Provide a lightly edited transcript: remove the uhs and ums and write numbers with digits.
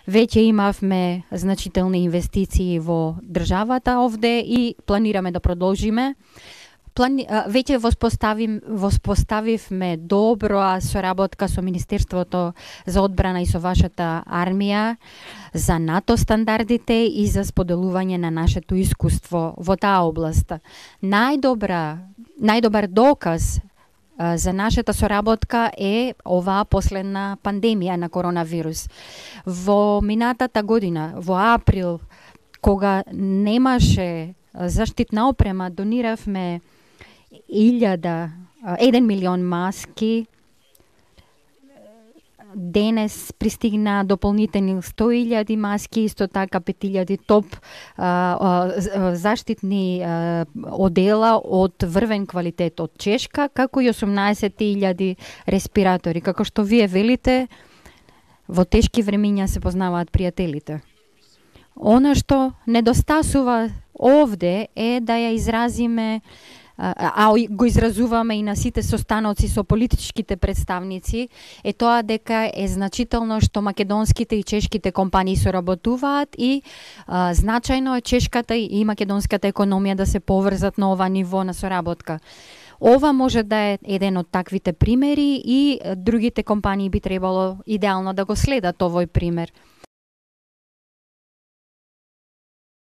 Веќе имавме значителни инвестиции во државата овде и планираме да продолжиме. Веќе воспоставивме добра соработка со Министерството за одбрана и со вашата армија за НАТО стандардите и за споделување на нашето искуство во таа област. Најдобар доказ за нашата соработка е оваа последна пандемија на коронавирус. Во минатата година, во април, кога немаше заштитна опрема, дониравме 1 милион маски. Денес пристигна дополнителни 100.000 маски, исто така 5.000 топ заштитни одела од врвен квалитет од Чешка, како и 18.000 респиратори. Како што вие велите, во тешки времиња се познаваат пријателите. Она што недостасува овде е да ја изразиме, го изразуваме и на сите состаноци со политичките представници, е тоа дека е значително што македонските и чешките компании соработуваат и значајно е чешката и македонската економија да се поврзат на ова ниво на соработка. Ова може да е еден од таквите примери и другите компании би требало идеално да го следат овој пример.